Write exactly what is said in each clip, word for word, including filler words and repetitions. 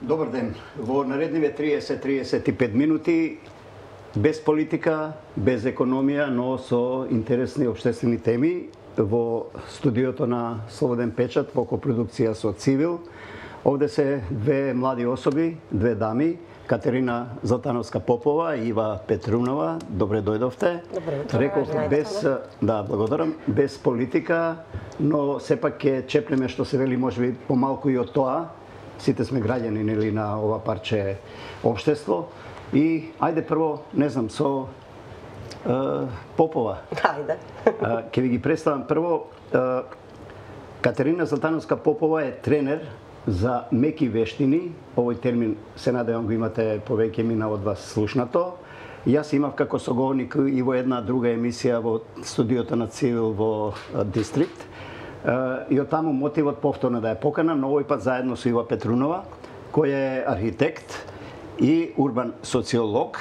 Добар ден. Во наредниве триесет до триесет и пет минути, без политика, без економија, но со интересни општествени теми, во студиото на Слободен печат, во копродукција со Цивил. Овде се две млади особи, две дами, Катерина Златановска Попова и Ива Петрунова. Добре дојдовте. Добре утро. Реков без, да, благодарам, без политика, но сепак ќе чепнеме што се вели можеби помалку и од тоа. Сите сме граѓани нели на ова парче општество. И ајде прво, не знам, со е, Попова. Ајде. Ќе ви ги представам прво. Е, Катерина Златановска Попова е тренер за меки вештини. Овој термин се надевам го имате повеќе мина од вас слушнато. Јас имав како соговорник и во една друга емисија во студиото на Цивил во Дистрикт. И од таму мотивот повторно да ја поканам, но овој пат заедно со Ива Петрунова, кој е архитект и урбан социолог.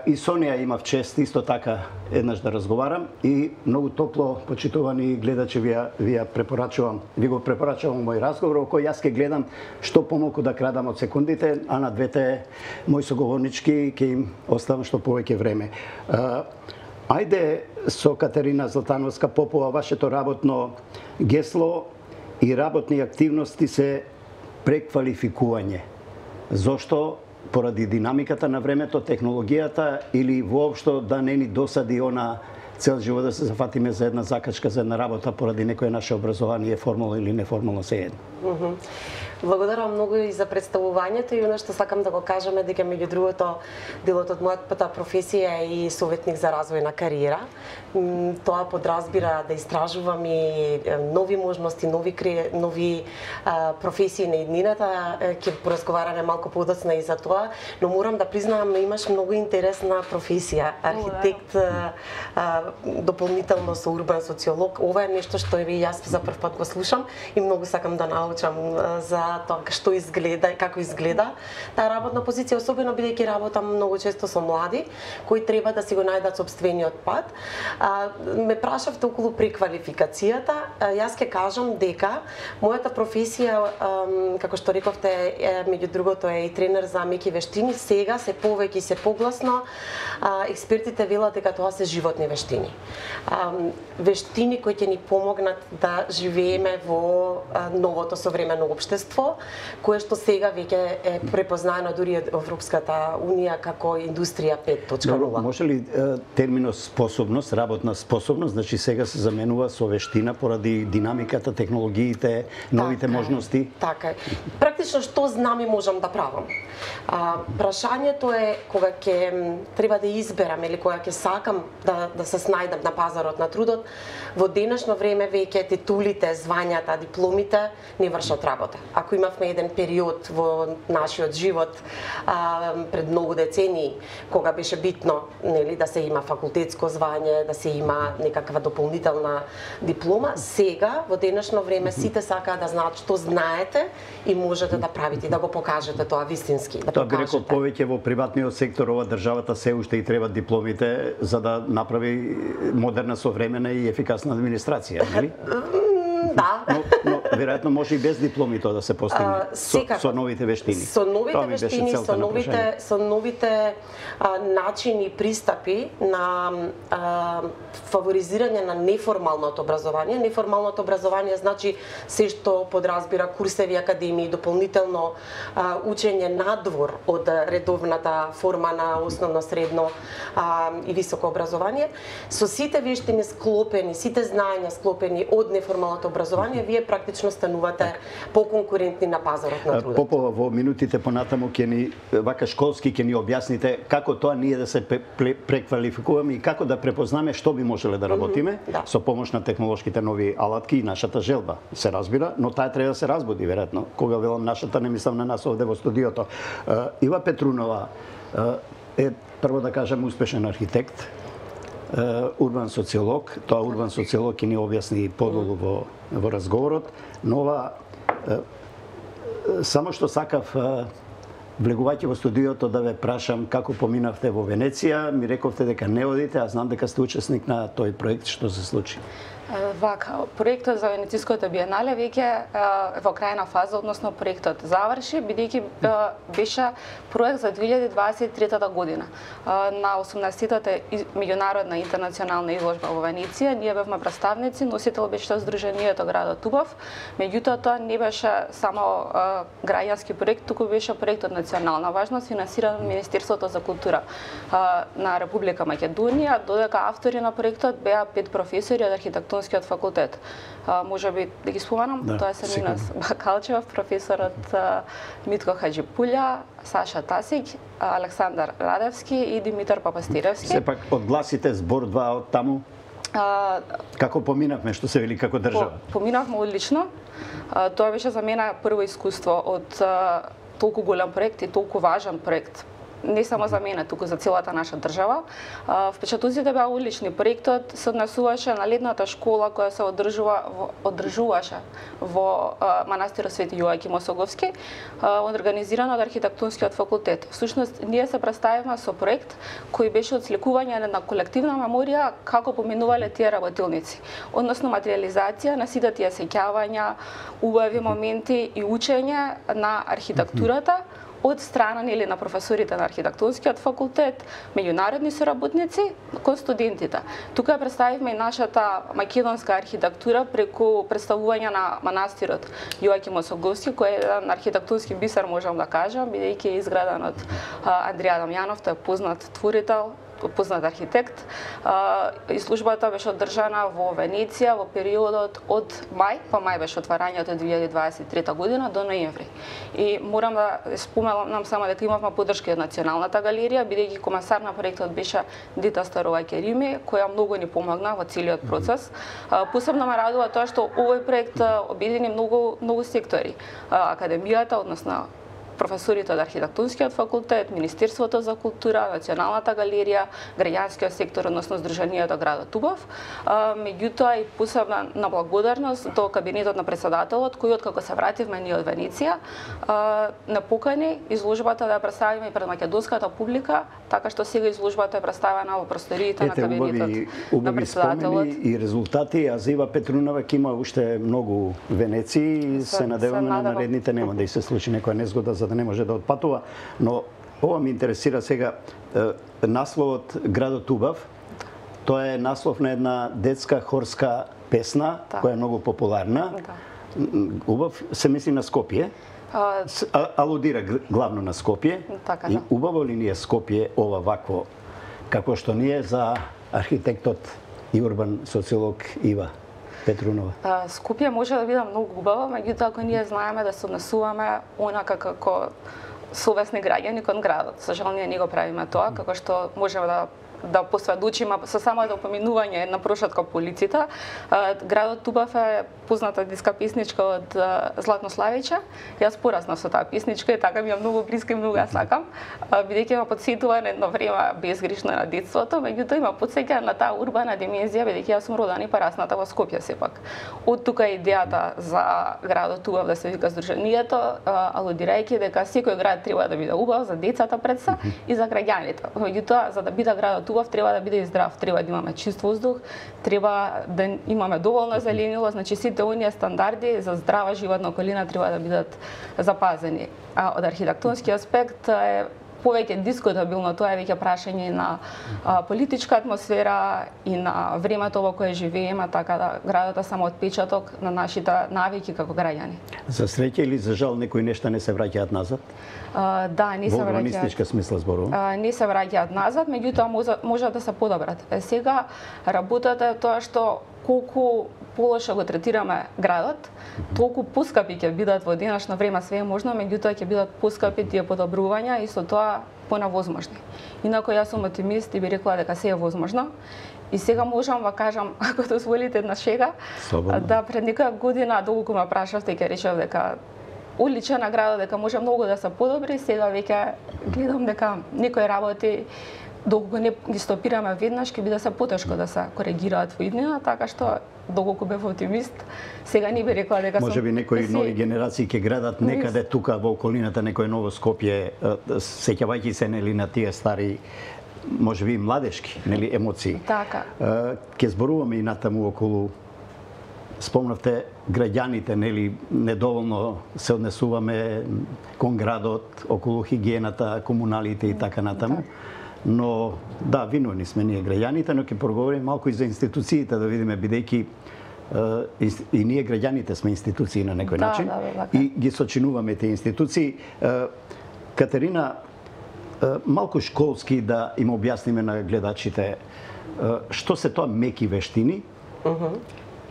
И со неја имав чест исто така еднаш да разговарам и многу топло почитувани гледачи ви ја, ви ја препорачувам, ви го препорачувам мој разговор, во кој јас ќе гледам што помалку да крадам од секундите, а на двете мои соговорнички ќе им оставам што повеќе време. Ајде со Катерина Златановска Попова, вашето работно гесло и работни активности се преквалификување. Зошто? Поради динамиката на времето, технологијата или воопшто да не ни досади она цел живот да се зафатиме за една закачка, за една работа поради некое наше образование, формално или неформално се едно. Mm -hmm. Благодарам многу и за представувањето и оно што сакам да го кажам е дека меѓу другото делот од мојата професија е и советник за развој на кариера. Тоа подразбира да истражувам и нови можности, нови кре... нови а, професии на иднината. Ќе поразговараме малку подоцна и за тоа, но морам да признавам имаш многу интересна професија, архитект, а, а, дополнително со урбан социолог. Ова е нешто што и јас за прв пат го слушам и многу сакам да научам а, за тоа што изгледа и како изгледа таа работна позиција, особено бидејќи работам многу често со млади кои треба да си го најдат собствениот пат. А, ме прашавте околу преквалификацијата. А, јас ќе кажам дека мојата професија, а, како што рековте, е, меѓу другото е и тренер за меки вештини. Сега се повеќе и се погласно а, експертите велат дека тоа се животни вештини. А, вештини кои ќе ни помогнат да живееме во а, новото современо општество, кое што сега веќе е препознаено дури од Европската унија како индустрија пет точка нула. Може ли е, терминот способност, работна способност, значи сега се заменува со вештина поради динамиката, технологиите, новите така, можности? Така е. Практично што знам и можам да правам. А, прашањето е кога ќе треба да изберам или кога ќе сакам да да се снајдам на пазарот на трудот, во денешно време веќе титулите, звањата, дипломите не вршат работа. Ако имавме еден период во нашиот живот а, пред многу децении, кога беше битно нели, да се има факултетско звање, да се има некаква дополнителна диплома, сега, во денешно време, сите сакаат да знаат што знаете и можете да правите, да го покажете тоа вистински. Да тоа би рекол повеќе во приватниот сектор, ова државата се уште и треба дипломите за да направи модерна, современа и ефикасна администрација, нели? Да. Но, но веројатно може и без дипломи тоа да се постигне со, со новите вештини. Со новите вештини, со новите со новите а, начини и пристапи на а, фаворизирање на неформалното образование. Неформалното образование значи се што подразбира курсеви, академии, дополнително а, учење надвор од редовната форма на основно, средно а, и високо образование. Со сите вештини склопени, сите знаења склопени од неформалното образование, вие практично станувате поконкурентни на пазарот на трудот. Попова, во минутите понатаму ќе ни вака школски ќе ни објасните како тоа ние да се преквалификуваме и како да препознаме што би можеле да работиме mm -hmm, да. со помош на технолошките нови алатки и нашата желба. Се разбира, но таа треба да се разбуди веројатно. Кога велам нашата, не мислам на нас овде во студиото. Ива Петрунова е прво да кажам успешен архитект, урбан социолог, тоа урбан социолог ќе ни објасни подолу во, во разговорот, но ова само што сакав влегувајќи во студиото да ве прашам како поминавте во Венеција, ми рековте дека не одите, а знам дека сте учесник на тој проект, што се случи. Вака, проектот за Венецијското биенале веќе е во крајна фаза, односно проектот заврши, бидејќи беше проект за две илјади дваесет и трета година. На осумнаесеттата меѓународна интернационална изложба во Венеција, ние бевме представници, носител беше Сдруженијето градот Убав, меѓутоа тоа не беше само граѓански проект, туку беше проект од национална важност, финансиран од Министерството за култура на Република Македонија, додека автори на проектот беа пет професори од архитектонскиот факултет. Може би да ги споменам, да, тоа се Минас Бакалчев, професорот Митко Хаџипулја, Саша Тасик, Александар Радевски и Димитар Папастиревски. Сепак одгласите збор два од таму. А, како поминавме, што се вели како држава? По, поминавме одлично. А, тоа беше за мене прво искуство од а, толку голем проект и толку важен проект. Не само за мене, туку за целата наша држава. Впечатоците беа одлични. Проектот се однесуваше на летната школа која се одржува, одржуваше во манастирот Свети Јоаким Осоговски, организиран од архитектонскиот факултет. Всушност, ние се представивме со проект кој беше отсликување на колективна меморија како поминувале тие работилници. Односно материализација на сите тие сеќавања, убави моменти и учење на архитектурата од страна или на професорите на архитектонскиот факултет, меѓународни соработници, кон студентите. Тука представивме и нашата македонска архитектура преку представување на манастирот Јоаким Осоговски, кој е еден архитектонски бисер, можам да кажам, бидејќи е изграден од Андрија Дамјанов, тој е познат творител, познат архитект. Изложбата беше одржана во Венеција во периодот од мај, па мај беше отварањето две илјади дваесет и трета година до ноември. И морам да споменам само дека имавме поддршка од Националната галерија, бидејќи комесар на проектот беше Дита Старова Керими, која многу ни помогна во целиот процес. Посебно ме радува тоа што овој проект обедини многу многу сектори. Академијата, односно професорите од архитектонскиот факултет, Министерството за култура, Националната галерија, граѓанскиот сектор, односно Сдруженијето градот Убав. Меѓутоа и посебна на благодарност до кабинетот на председателот, кој откако се вративме ние од Венеција, на покани изложбата да ја представиме и пред македонската публика, така што сега изложбата е представена во просториите на кабинетот на председателот. Спомени и резултати, а за Ива Петрунова ќе има уште многу Венеции и се, се надеваме на наредните нема да и се случи некоја незгода за да не може да отпатува, но ова ми интересира сега насловот Градот Убав. Тоа е наслов на една детска хорска песна, да, која е многу популарна. Да. Убав се мисли на Скопје. А... Алудира главно на Скопје. Така, и да. убаво ли ни е Скопје ова вакво, како што ни е за архитектот и урбан социолог Ива Петрунова? Скопје може да биде многу убаво, меѓутоа ако ние знаеме да се однесуваме онака како совесни граѓани кон градот. За жал ние не го правиме тоа, како што можеме да да посведочиме со само да поминување на прошатка полиците. Градот Убав е позната детска песничка од Златно Славиче. Јас пораснав со таа песничка и така ми е многу блиска и многу ја сакам, бидејќи ме потсетува на едно време безгришно на детството, меѓутоа има потсеќа на таа урбана димензија, бидејќи јас сум родена и порасната во Скопје сепак. Од тука е идејата за градот Убав да се вика Сдруженијето, алудирајќи дека секој град треба да биде убав за децата пред се и за граѓаните. Меѓутоа, за да биде градот убав, треба да биде и здрав, треба да имаме чист воздух, треба да имаме доволно зеленило, значи сите оние стандарди за здрава животна околина треба да бидат запазени. А од архитектонски аспект е повеќе дискутабилно, тоа е веќе прашање на а, политичка атмосфера и на времето во кое живееме, така да градот е само отпечаток на нашите навики како граѓани. За среќа или за жал некои нешта не се враќаат назад? А, да, не се враќаат. Во урбанистичка смисла зборувам. Не се враќаат назад, меѓутоа може, може да се подобрат. Сега работата е тоа што колку полошо го третираме градот, толку поскапи ќе бидат во денешно време, све е можно, меѓутоа ќе бидат поскапи тие подобрувања и со тоа понавозможни. Инако јас сум оптимист и би рекла дека се е возможно. И сега можам да кажам, ако дозволите една шега, Слободно. Да пред некоја година доколку ме прашавте ќе речев дека одличен на градот, дека може многу да се подобри, сега веќе гледам дека некои работи доколку не ги стопираме веднаш, ќе биде се потешко да се коригираат во иднина, така што доколку бев оптимист, сега не би рекла дека може би некои нови генерации ќе градат некаде тука во околината некој ново Скопје, сеќавајќи се нели на тие стари, може би младешки, нели емоции. Така. Ќе зборуваме и натаму околу спомнавте граѓаните, нели, недоволно се однесуваме кон градот, околу хигиената, комуналите и така натаму. Но да, виновни сме ние граѓаните, но ќе проговориме малку и за институциите, да видиме, бидејќи и, и ние граѓаните сме институции на некој да, начин да, и ги сочинуваме тие институции. Катерина, малку школски да им објасниме на гледачите што се тоа меки вештини, uh-huh.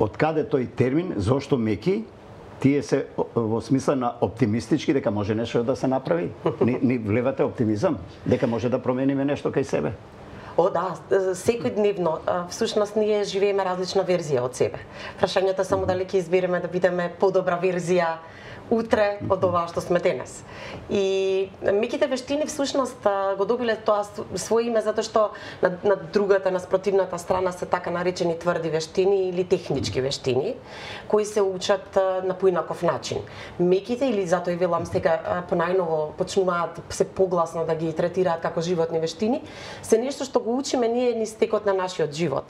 од каде тој термин, зошто меки, тие се во смисла на оптимистички дека може нешто да се направи. Ни, ни влевате оптимизам дека може да промениме нешто кај себе. О, да, секојдневно. Всушност, ние живееме различна верзија од себе. Прашањето е само дали ќе избереме да бидеме подобра верзија утре од ова што сме денес. И меките вештини всушност го добиле тоа своје име затоа што на, на другата, на спротивната страна се така наречени тврди вештини или технички вештини, кои се учат на поинаков начин. Меките, или затоа и велам сега понајново почнуваат се погласно да ги третираат како животни вештини, се нешто што го учиме ние низ текот на нашиот живот.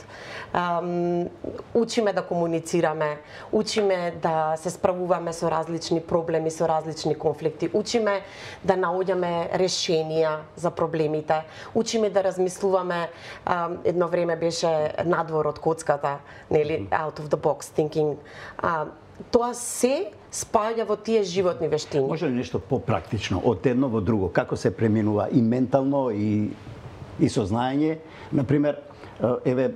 Um, учиме да комуницираме, учиме да се справуваме со различни проблеми, со различни конфликти, учиме да наоѓаме решенија за проблемите, учиме да размислуваме, um, едно време беше надвор од коцката, нели, out of the box thinking. Uh, тоа се спаѓа во тие животни вештини. Може ли нешто попрактично од едно во друго, како се преминува и ментално и и сознање, например, еве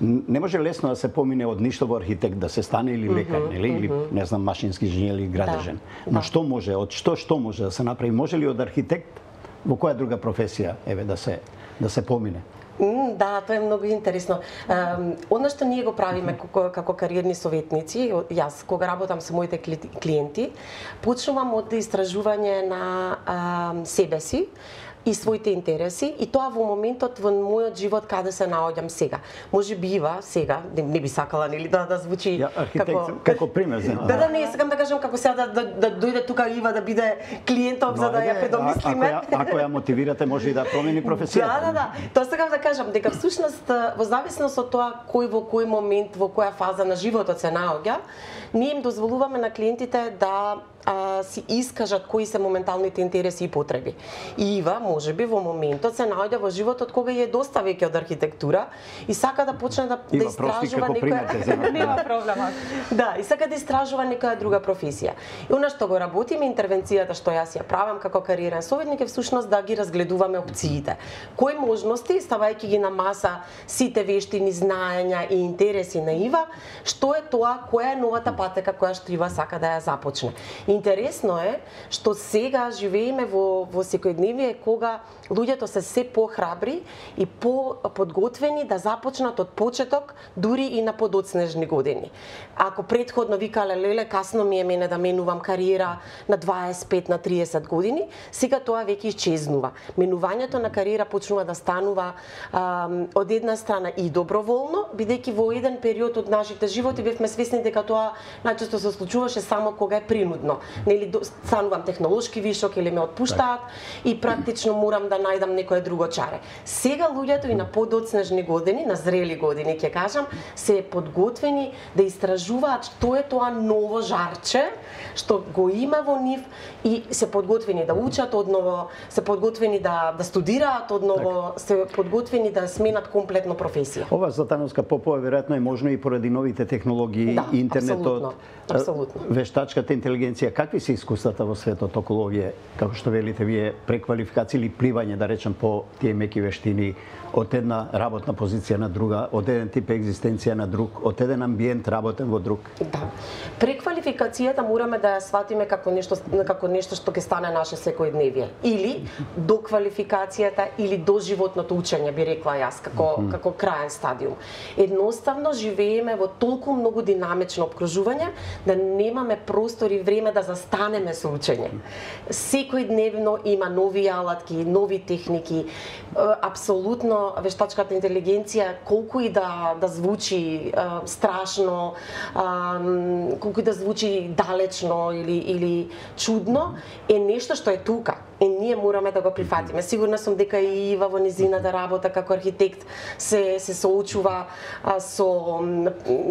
не може лесно да се помине од ништо во архитект да се стане или лекар, mm-hmm, нели, или mm-hmm. не знам машински инженер или градежен. Да, Но да. што може, од што што може да се направи? Може ли од архитект во која друга професија еве да се да се помине? Mm, да, тоа е многу интересно. Одно што ние го правиме како, како кариерни советници, јас кога работам со моите клиенти, почнувам од истражување на а, себе си и своите интереси, и тоа во моментот во мојот живот каде се наоѓам сега. Може би ива сега, не, не би сакала нели да да звучи ја, архитект, како како пример за. Да, да, не, сакам да кажам како сега да, да, да дојде тука Ива да биде клиентов за да ја предомислиме. А, ако, ја, ако ја мотивирате, може и да промени професијата. Да, да, да. Тоа сакам да кажам дека всушност во зависност од тоа кој во кој момент, во која фаза на животот се наоѓа, ние им дозволуваме на клиентите да а, си искажат кои се моменталните интереси и потреби. И Ива, може би во моментот се наоѓа во животот кога е доста веќе од архитектура и сака да почне да, Ива, да истражува некоја нема проблема. Да, и сака да истражува некоја друга професија. И она што го работиме, интервенцијата што јас ја правам како кариерен советник е всушност да ги разгледуваме опциите. Кои можности, ставајќи ги на маса сите вештини, знаења и интереси на Ива, што е тоа, која е новата патека која што Ива сака да ја започне. Интересно е што сега живееме во во секојдневие кога луѓето се се похрабри и по-подготвени да започнат од почеток, дури и на подоцнежни години. Ако претходно викале леле касно ми е мене да менувам кариера на дваесет и пет на триесет години, сега тоа веќе исчезнува. Менувањето на кариера почнува да станува а, од една страна и доброволно, бидејќи во еден период од нашите животи бевме свесни дека тоа најчесто се случуваше само кога е принудно. Нели станувам технолошки вишок или ме отпуштаат и практично морам да најдам некое друго чаре. Сега луѓето и на подоцнежни години, на зрели години ќе кажам, се подготвени да истражуваат што е тоа ново жарче што го има во нив и се подготвени да учат одново, се подготвени да да студираат одново, се подготвени да сменат комплетно професија. Ова Златановска Попова веројатно е можно и поради новите технологии, да, интернетот, апсолутно, апсолутно. Вештачката интелигенција. Какви се искуствата во светот околу овие, како што велите вие, преквалификација или пливање, да речем, по тие меки вештини од една работна позиција на друга, од еден тип екзистенција на друг, од еден амбиент работен во друг? Да. Преквалификацијата мораме да ја сватиме како нешто како нешто што ќе стане наше секојдневие, или до квалификацијата или до животното учење, би рекла јас, како mm -hmm. како краен стадиум. Едноставно живееме во толку многу динамично опкружување да немаме простор и време да застанеме со учење. Секојдневно има нови алатки, нови техники, апсолутно вештачката интелигенција, колку и да да звучи а, страшно, а, колку и да звучи далечно или или чудно, е нешто што е тука. И ние мораме да го прифатиме. Сигурна сум дека и Ива во низината работа како архитект се се соочува а, со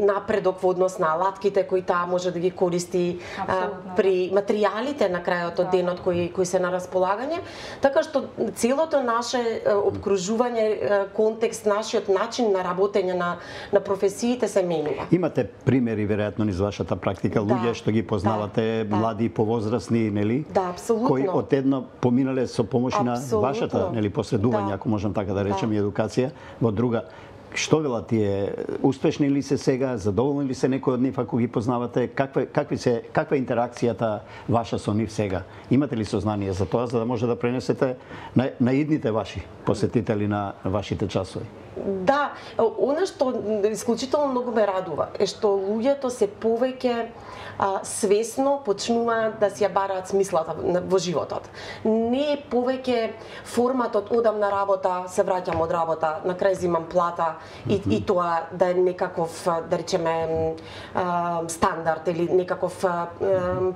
напредок во однос на алатките кои таа може да ги користи а, при материјалите на крајот од денот кои кои се на располагање, така што целото наше обкружување, контекст, нашиот начин на работење на на професиите се менува. Имате примери веројатно низ вашата практика, Да, луѓе што ги познавате, да, млади, повозрасни, нели? Да, апсолутно. Кои одедно поминале со помош на вашата, нели, посредување, Да. ако можам така да речем, Да. и едукација во друга. Што велат тие? Успешни ли се сега? Задоволни ли се некој од нив ако ги познавате? Каква какви се каква е интеракцијата ваша со нив сега? Имате ли сознание за тоа за да може да пренесете на, на идните ваши посетители на вашите часови? Да, она што исклучително многу ме радува е што луѓето се повеќе а, свесно почнуваат да си ја бараат смислата во животот. Не е повеќе форматот одам на работа, се враќам од работа, на крај земам плата и, mm-hmm. и тоа да е некаков, да речеме, а, стандард или некаков а,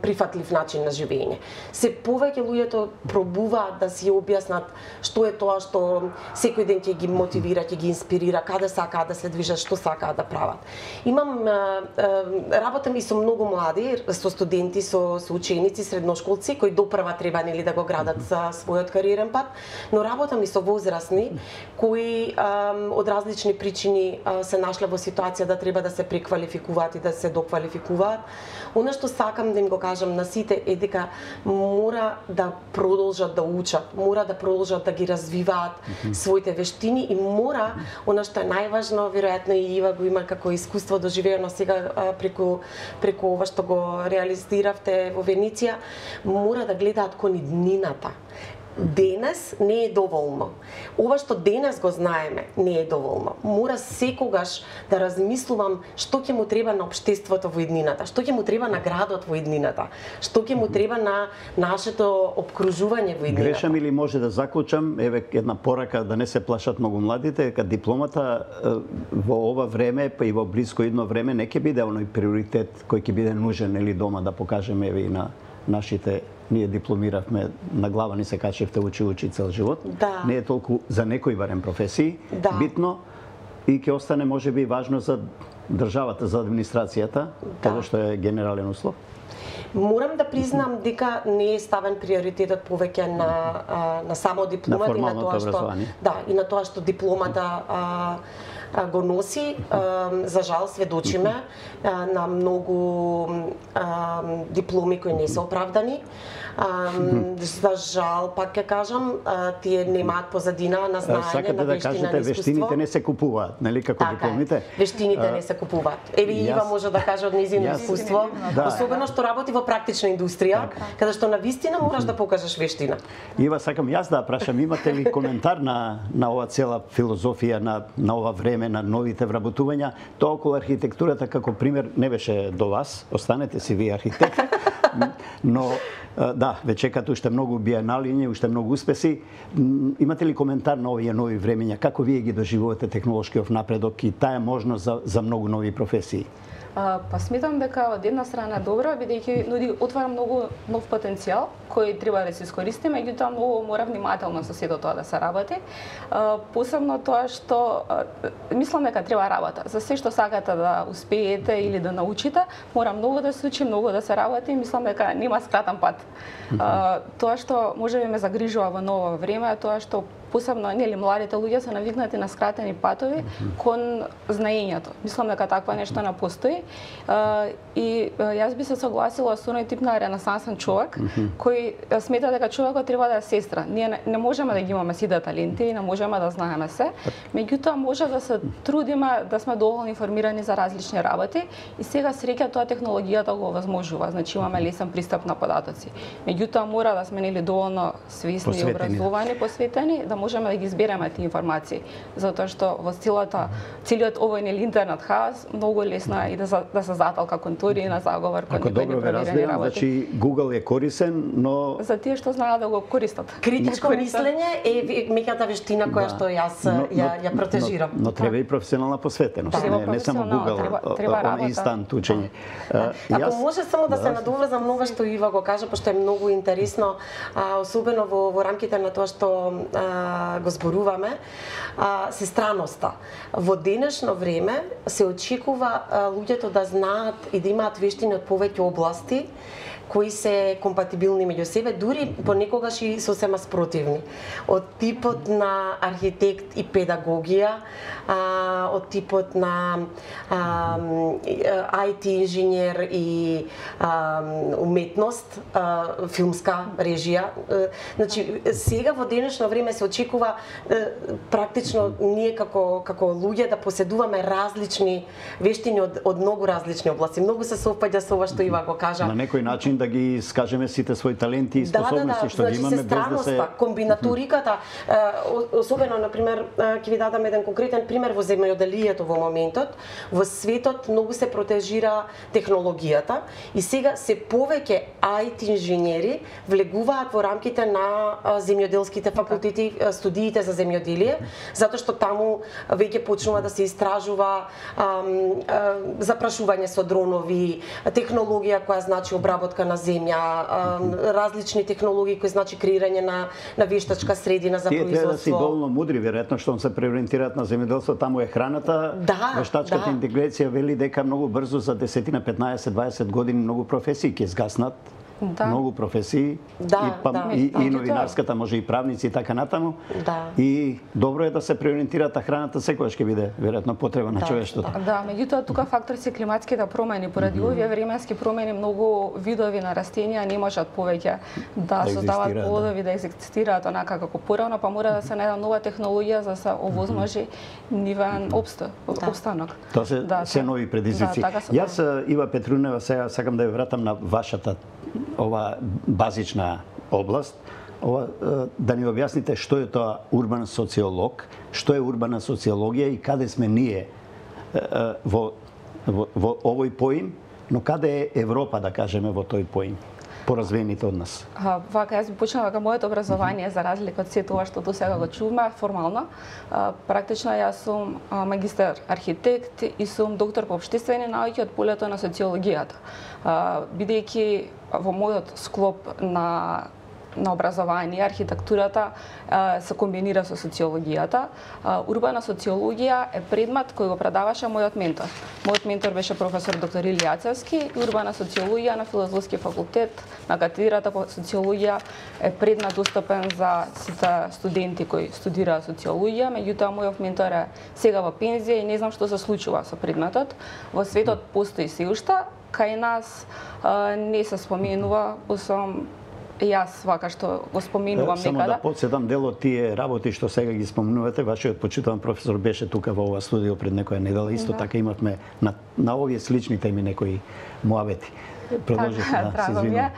прифатлив начин на живење. Се повеќе луѓето пробуваат да си објаснат што е тоа што секој ден ќе ги мотивира, ќе ги инспирира, каде сакаат да се движат, што сакаат да прават. Имам а, а, работам и со многу млади, со студенти, со, со ученици, средношколци кои допрва треба нели да го градат за својот кариерен пат, но работам и со возрастни кои а, од различни причини а, се нашле во ситуација да треба да се преквалификуваат и да се доквалификуваат. Она што сакам да им го кажам на сите е дека мора да продолжат да учат, мора да продолжат да ги развиваат mm-hmm. своите вештини и мора, она што е најважно, веројатно и Ива го има како искуство доживеено сега а, преку преку ова што го реализиравте во Венеција, мора да гледаат кон иднината. Денес не е доволно. Ова што денес го знаеме не е доволно. Мора секогаш да размислувам што ќе му треба на општеството во иднината, што ќе му треба на градот во иднината, што ќе му треба на нашето обкружување во иднината. Грешам или може да заклучам, еве една порака да не се плашат многу младите, дека дипломата во ова време, па и во блиско идно време не ќе биде оној приоритет кој ќе биде нужен или дома да покажеме еве и на нашите. Ние дипломиравме, на глава ни се качевте учи учи цел живот. Да. Не е толку за некои барем професии да. битно и ќе остане можеби важно за државата, за администрацијата, да. тоа што е генерален услов. Морам да признам дека не е ставен приоритетот повеќе на на само дипломата на и на тоа што да, и на тоа што дипломата а, го носи. За жал сведочиме на многу дипломи кои не се оправдани. За жал, пак ќе кажам, тие немаат позадина на знаење, Сакате на да вештина, кажете, на искуство. вештините не се купуваат, нели како така дипломите? Е. Вештините не се купуваат. Еве Ива може да каже од низино искуство, да. особено што работи во практична индустрија, каде што на вистина мораш да покажеш вештина. Ива, сакам јас да прашам, имате ли коментар на на ова цела филозофија на на ова време, на новите вработувања? Тоа околу архитектурата како пример не беше до вас, останете си вие архитект, но да, ве чекат уште многу биеналиња, уште многу успеси. Имате ли коментар на овие нови времења? Како вие ги доживувате технолошкиот напредок и таа можност за, за многу нови професии? А, па сметам дека од една страна добро, бидејќи нуди отвара многу нов потенцијал кој треба да се искористи, меѓутоа многу мора внимателно со сето тоа да се работи. А, посебно тоа што а, мислам дека треба работа. За се што сакате да успеете или да научите, мора многу да се учи, многу да се работи, мислам дека нема скратен пат. А, тоа што можеби ме загрижува во ново време е тоа што посебно нели младите луѓе се навикнати на скратени патови кон знаењето. Мислам дека таква нешто не постои. Uh, и uh, јас би се согласила со оној тип на ренесансен човек mm-hmm. кој смета дека човекот треба да е сестра. Ние не, не можеме да ги имаме сите таленти, не можеме да знаеме се, меѓутоа може да се трудиме да сме доволно информирани за различни работи и сега среќа тоа технологијата го овозможува, значи имаме лесен пристап на податоци. Меѓутоа мора да сме нели доволно свесни и образовани, посветени, да да можеме да ги избереме тие информации, затоа што во целата целиот овој нели интернет хаос многу лесно е и да, да се заталка кон теорија на заговор кон Ако добро ве разбирам, значи Google е корисен, но за тие што знаат да го користат. Критичко мислење е меѓата вештина која што јас ја ја протежирам. Но, но треба и професионална посветеност, не, не само Google, треба, треба инстант учење. Ако може само да се надоврзам на ова што Ива го кажа, пошто е многу интересно, а, особено во, во рамките на тоа што а, го зборуваме, а, се страноста. Во денешно време се очекува а, луѓето да знаат и да имаат вештини од повеќе области кои се компатибилни меѓу себе, дури понекогаш и сосема спротивни. Од типот на архитект и педагогија, а, од типот на а, ай ти инженер и а, уметност, а, филмска режија. Значи, сега во денешно време се очекува практично ние како како луѓе да поседуваме различни вештини од, од многу различни области. Многу се совпаѓа со ова што Ива го кажа. На некој начин да ги скажеме сите свои таленти и способности да, да, да. што значи, ги имаме без да се комбинаториката, особено на пример ќе ви дадам еден конкретен пример во земјоделието во моментот, во светот многу се протежира технологијата и сега се повеќе ай ти инженери влегуваат во рамките на земјоделските факултети, студиите за земјоделие, затоа што таму веќе почнува да се истражува ам, запрашување со дронови, технологија која значи обработка на земја, различни технологии кои значи креирање на на вештачка средина за Тие производство. Тие треба да си доволно мудри, веројатно што се преориентираат на земјоделство, таму е храната. Да, вештачката да. интеграција вели дека многу брзо за десетина, петнаесет, дваесет години многу професии ќе згаснат. Да. Многу професии да, и, па, да, и, да. и новинарската, може и правници и така натаму. Да. И добро е да се преориентираат, а храната секогаш ќе биде веројатно потреба на да, човештвото. Да, да, меѓутоа тука фактор се климатските промени. Поради mm -hmm. овие временски промени многу видови на растенија не можат повеќе да, да создават плодови, да. да екзистираат онака како порано, па мора да се најде нова технологија за да се овозможи нивен обстој, да. обстанок. Тоа се да, се нови предизвици. Да, така Јас, Ива Петрунева, сега сакам да ја вратам на вашата ова базична област, ова, да ни објасните што е тоа урбан социолог, што е урбана социологија и каде сме ние во, во, во овој поим, но каде е Европа, да кажеме, во тој поим, поразвените од нас? А, вака, јас би почнала дека моето образование, за разлика од сето ова што до сега го чуваме, формално. А, практично јас сум а, магистар архитект и сум доктор по општествени науки од полето на социологијата. А, бидејќи во мојот склоп на на образование, архитектурата а, се комбинира со социологијата. А, урбана социологија е предмет кој го предаваше мојот ментор. Мојот ментор беше професор доктор Илија Ацевски и урбана социологија на Филозофски факултет на катедрата по социологија е предмет достапен за сите студенти кои студираат социологија, меѓутоа мојот ментор е сега во пензија и не знам што се случува со предметот. Во светот постои се уште, кај нас а, не се споменува, освен јас вака што го споменувам некада. Само да подсетам, дел од тие работи што сега ги спомнувате, вашиот почитуван професор беше тука во ова студио пред некоја недела, исто да. Така имавме на, на овие слични теми некои муабети. Продолжите, да, се извинувам.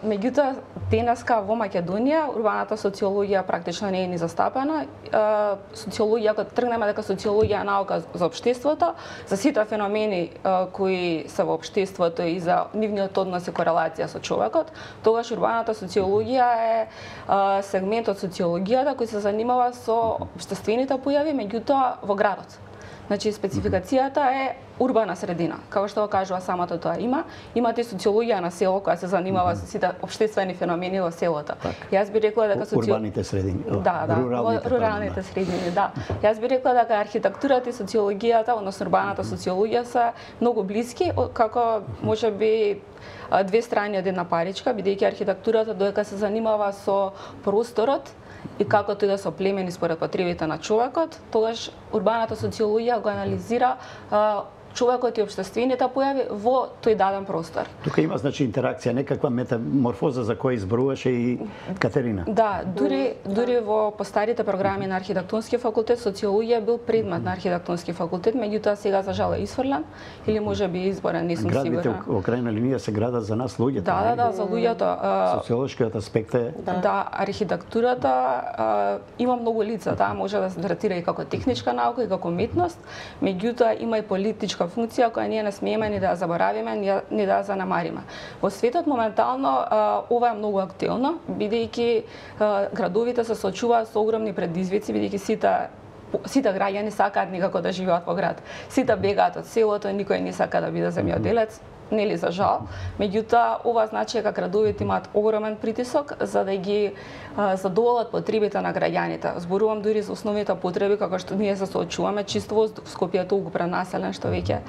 Меѓутоа, денеска во Македонија урбаната социологија практично не е ни застапена. А, социологија, ако тргнеме дека социологија е наука за општеството, за сите феномени а, кои се во општеството и за нивниот однос и корелација со човекот, тогаш урбаната социологија е а, сегмент од социологијата кој се занимава со општествените појави, меѓутоа во градот. Значи, спецификацијата е урбана средина. Како што го кажува самото тоа има, имате социологија на село која се занимава со сите општествени феномени во селото. Так. Јас би рекла дека социо... урбаните средини. Да, да, руралните, руралните да. Средини, да. Јас би рекла дека архитектурата и социологијата, односно урбаната социологија се многу блиски, како можеби две страни од една паричка, бидејќи архитектурата додека се занимава со просторот и како тој да се оплемени според потребите на човекот, тогаш урбаната социологија го анализира а, човекот и општествените појави во тој даден простор. Тука има значи интеракција, некаква метаморфоза за која изборуваше и Катерина. Да, дури дури во постарите програми на архитектонски факултет социологија бил предмет на архитектонски факултет, меѓутоа сега за жал е исфрлен или можеби изборен, не сум сигурна. Градите во крајна линија се градат за нас луѓето. Да, да, да, за луѓето. Социолошкиот аспект е да, да архитектурата а, има многу лица, таа може да се третира и како техничка наука и како уметност, меѓутоа има и политичка функција која ние не смееме ни да ја заборавиме, ни, ни да ја занемариме. Во светот моментално а, ова е многу актуелно, бидејќи а, градовите се соочуваат со огромни предизвици, бидејќи сите сите граѓани сакаат некако да живеат во град. Сите бегаат од селото, никој не сака да биде земјоделец, нели за жал. Меѓутоа, ова значи дека градовите имаат огромен притисок за да ги а, задоволат потребите на граѓаните. Зборувам дури за основните потреби како што ние се соочуваме, чист воздух. Скопје е толку пренаселен што веќе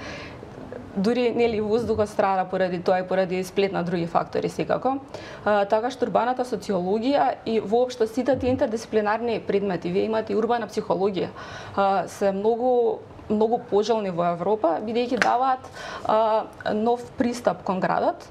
дури нели воздухот страда поради тоа и поради сплет на други фактори секако. А, така што урбаната социологија и воопшто сите тие интердисциплинарни предмети, вие имате и урбана психологија, а, се многу многу пожелни во Европа, бидејќи даваат а, нов пристап кон градот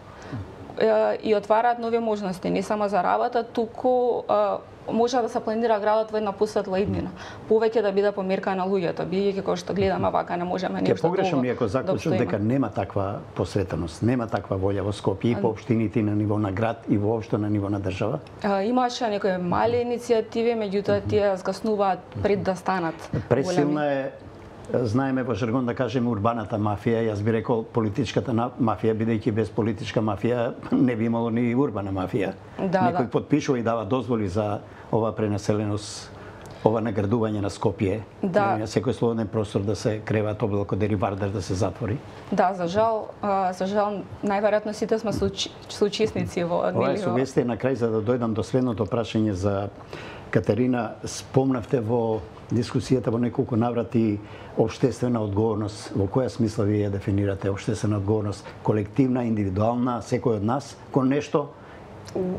а, и отвараат нови можности, не само за работа, туку а, може да се планира градот во една посветла иднина. Повеќе да биде померка на луѓето, бидејќи кога што гледаме вака не можеме нешто долго. Ќе погрешам иако заклучам дека нема таква посветеност, нема таква волја во Скопје и по општините на ниво на град и воопшто на ниво на држава. А, имаше некои мали иницијативи, меѓутоа тие згаснуваат пред да станат пресилна е. Знаеме во жаргон да кажеме урбаната мафија, јас би рекол политичката мафија, бидејќи без политичка мафија не би имало ни урбана мафија. Да, Некој да. потпишува и дава дозволи за ова пренаселеност, ова наградување на Скопје. Да. На секој слободен простор да се креват облако деривардер да се затвори. Да, за жал, а, за жал најверојатно сите сме соучесници во нели. Ова е сугестија на крај за да дојдам до следното прашање за Катерина. Спомнавте во дискусијата во неколку наврати општествена одговорност. Во која смисла вие ја дефинирате општествена одговорност? Колективна, индивидуална, секој од нас кон нешто?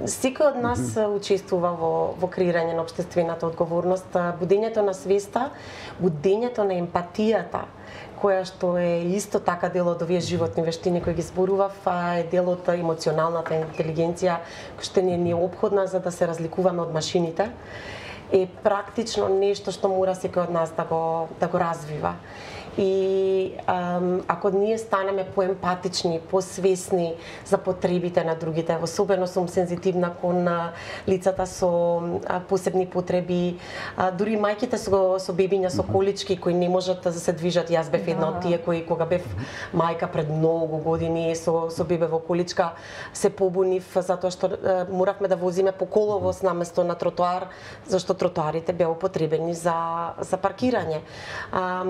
Секој од нас mm -hmm. учествува во, во креирање на општествената одговорност, будењето на свеста, будењето на емпатијата, која што е исто така дел од овие животни вештини кои ги зборував, е дел од емоционалната интелигенција која што ни е неопходна за да се разликуваме од машините, е практично нешто што мора секој од нас да го да го развива. И ам, ако ние станеме поемпатични, посвесни за потребите на другите, особено сум сензитивна кон лицата со а, посебни потреби, а, дури мајките со, со бебиња со колички кои не можат да се движат. Јас бев една од тие кои кога бев мајка пред многу години со, со бебе во количка се побунив затоа што а, моравме да возиме по коловоз наместо на тротоар, зашто тротоарите беа употребени за, за паркирање. А,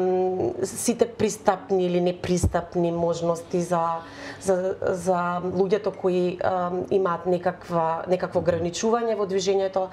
сите пристапни или непристапни можности за за за луѓето кои а, имаат некаква некакво ограничување во движењето,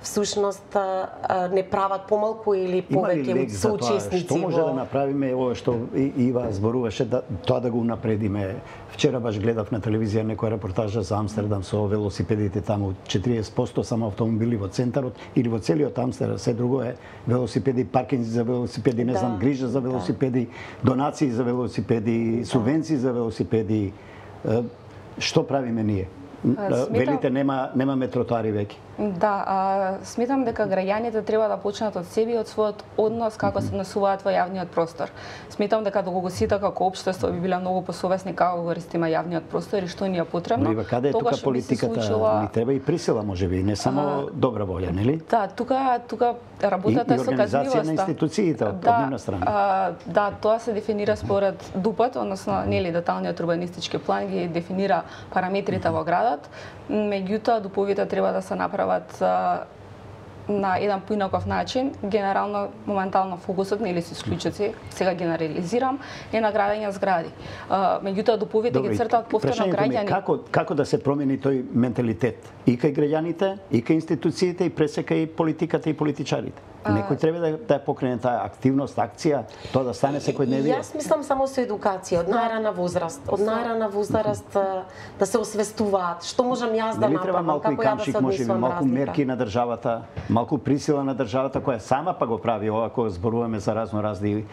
всушност а, не прават помалку или повеќе соучесници. Што може да направиме ова што Ива зборуваше, да тоа да го унапредиме? Вчера баш гледав на телевизија некоја репортажа за Амстердам со велосипедите таму, четириесет проценти само автомобили во центарот или во целиот Амстердам, се друго е велосипеди, паркинзи за велосипеди, не да, знам, грижа за велосипеди, да. Донации за велосипеди, субвенции за велосипеди. Што правиме ние? Сметам... Велите нема немаме тротоари веќе. Да, а, сметам дека граѓаните треба да почнат од себе и од својот однос како се однесуваат во јавниот простор. Сметам дека доколку сите како општество би биле многу посовесни како користиме јавниот простор и што ни е потребно. Но каде е тука политиката? Случила... Ни треба и присила можеби, не само а... добра волја, нели? Да, тука тука работата е со казливоста. И организација на институциите од да, однина страна. А, да, тоа се дефинира според ДУП-от, односно нели деталниот урбанистички план ги дефинира параметрите во градот, меѓутоа дуповите треба да се направат на еден поинаков начин. Генерално, моментално фокусот, нели се исклучоци, сега генерализирам, е на градење згради. Меѓутоа дуповите ги цртаат повторно граѓани. Како како да се промени тој менталитет и кај граѓаните, и кај институциите, и пресека и политиката и политичарите? Некој треба да, да покрене таа активност, акција, тоа да стане секојдневие. Јас мислам само со едукација, од најрана возраст, од најрана возраст да се освестуваат што можам јас да направам, како ја да се однесувам. Малку мерки на државата, малку присила на државата која сама па го прави ова кога зборуваме за разно разни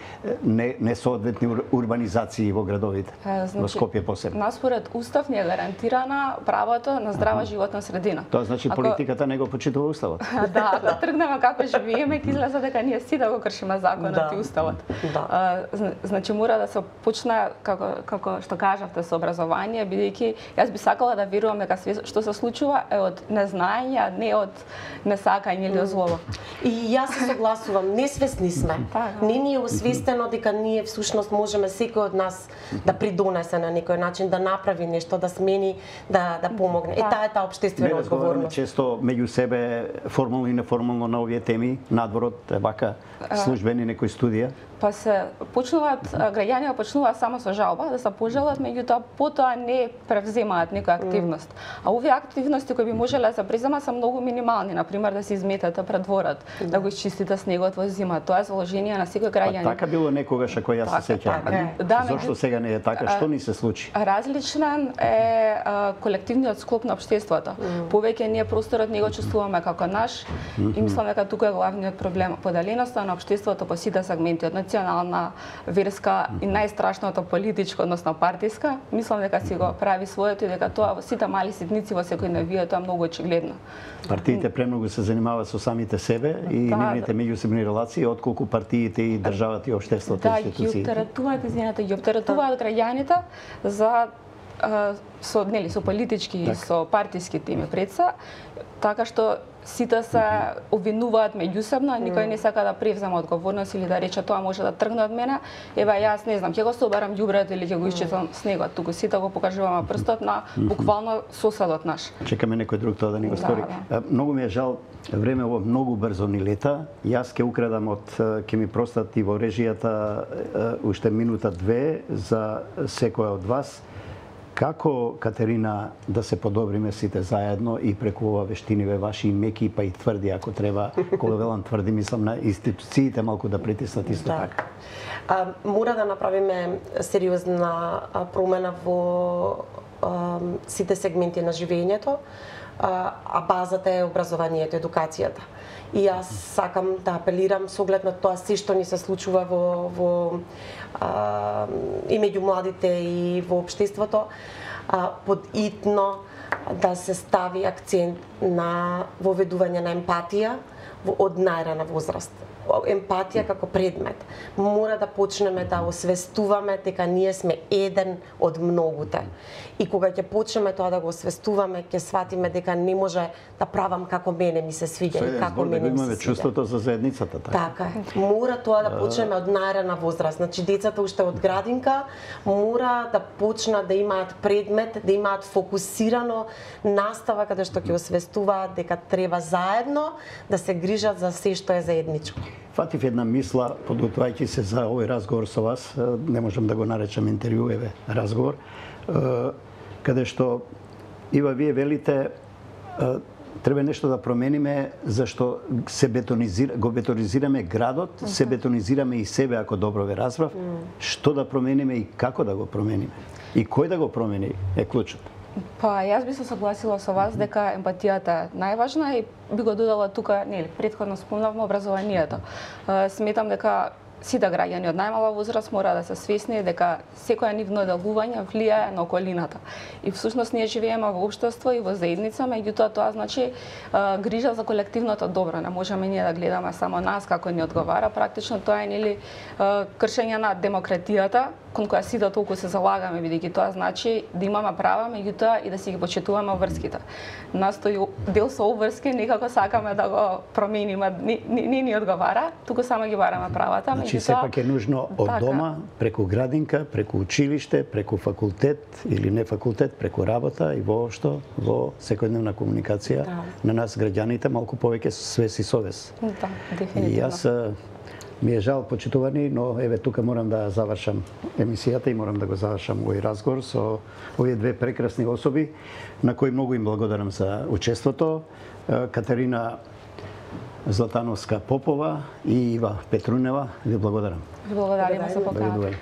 не несоодветни урбанизации во градовите, значи, во Скопје посебно. Нас според устав не е гарантирана правото на здрава животна средина. Тоа значи Ако... политиката не го почитува уставот. Да, да тргнеме како живееме, ќе излезе дека ние сите го кршиме законот да. И уставот. Да. Значи мора да се почне како како што кажавте со образование, бидејќи јас би сакала да верувам дека све што се случува е од незнаење, не од несакање или злоба. И јас се согласувам, несвесни сме. Не ни е освестено дека ние всушност можеме секој од нас да придонесе на некој начин, да направи нешто, да смени, да да помогне. Е таа е таа општествена одговорност. Често меѓу себе формално и неформално на овие теми, надворот е вака службени некои студија. Па се почнуваат граѓанија почнуваат само со жалба да се пожалат, меѓутоа потоа не превземаат некоја активност. А овие активности кои би можеле да се преземат се многу минимални, на пример да се изметете пред дворот, да, да го изчистите снегот во зима. Тоа е заложение на секој граѓанин. А така било некогаш ако јас се сеќавам. Да, зошто сега не е така? Што ни се случи? Различен е а, колективниот склоп на општеството. Mm. Повеќе ние просторот не го чувствуваме како наш и мислам дека тука е главниот проблем. Поделеноста на општеството по сите сегменти, од национална, верска и најстрашното политичко, односно партиска, мислам дека си го прави своето и дека тоа во сите мали ситници во секојдневието е многу очигледно. Партиите премногу се занимаваат со самите себе и да, нивните меѓусебни релации, отколку партиите и државата и општеството, да, институциите. Да, ги оптеретуваат, извинете, ги оптеретуваат граѓаните за со нели со политички и со партиски теми пред се, така што сите се обвинуваат меѓусебно, никој не сака да превземе одговорност или да рече тоа може да тргне од мене. Еве јас не знам, ќе го соберам ѓубрето или ќе го исчистам снегот. Туку сите го покажуваме прстот на буквално соседот наш. Чекаме некој друг тоа да ни го стори. Да, да. Многу ми е жал, времево многу брзо ни лета. Јас ќе украдам од ќе ми простат и во режијата уште минута две за секој од вас. Како, Катерина, да се подобриме сите заедно и преку ова вештиниве ваши меки па и тврди, ако треба, кога велам тврди, мислам на институциите малку да притиснат исто да. така. А, мора да направиме сериозна промена во а, сите сегменти на живењето, а, а базата е образованието, едукацијата. И јас сакам да апелирам со оглед на тоа се што ни се случува во, во а, и меѓу младите и во општеството, а, подитно да се стави акцент на воведување на емпатија во од најрана возраст. Емпатија како предмет. Мора да почнеме да освестуваме дека ние сме еден од многуте. И кога ќе почнеме тоа да го освестуваме, ќе сватиме дека не може да правам како мене ми се свиѓа и како мене ми се свиѓа. Чувството за заедницата, така. Така е. Мора тоа да почнеме од најрана возраст. Значи децата уште од градинка мора да почнат да имаат предмет, да имаат фокусирано настава каде што ќе освестуваат дека треба заедно да се грижат за се што е заедничко. Фатив една мисла, подготвајќи се за овој разговор со вас, не можам да го наречам интервју, еве, разговор, каде што, Ива, вие велите, треба нешто да промениме, зашто се бетонизира, го бетонизираме градот, okay. се бетонизираме и себе, ако добро ве разбрав, mm. што да промениме и како да го промениме. И кој да го промени е клучот. Па, јас би се согласила со вас дека емпатијата е најважна и би го додала тука, нели, претходно спомнавме образованието. Сметам дека сите граѓани од најмала возраст мора да се свесни дека секоја нивно делување влијае на околината. И всушност ние живееме во општество и во заедница, меѓутоа тоа значи а, грижа за колективното добро. Не можеме ние да гледаме само нас како ни одговара, практично тоа е нели кршење на демократијата кон која сите толку се залагаме, бидејќи тоа значи да имаме права, меѓутоа и да си ги почитуваме врските. Нас тој дел со обврски некако сакаме да го промениме, не, не, не ни одговара, туку само ги бараме правата. Значи сепак е нужно од така. Дома, преку градинка, преку училиште, преку факултет или не факултет, преку работа и воопшто во секојдневна комуникација да. На нас граѓаните малку повеќе свест и совест. Да, дефинитивно. И јас ми е жал, почитувани, но еве тука морам да завршам емисијата и морам да го завршам овој разговор со овие две прекрасни особи на кои многу им благодарам за учеството. Катерина Златановска Попова и Ива Петрунева, ви благодарам. Ви благодариме за поканата.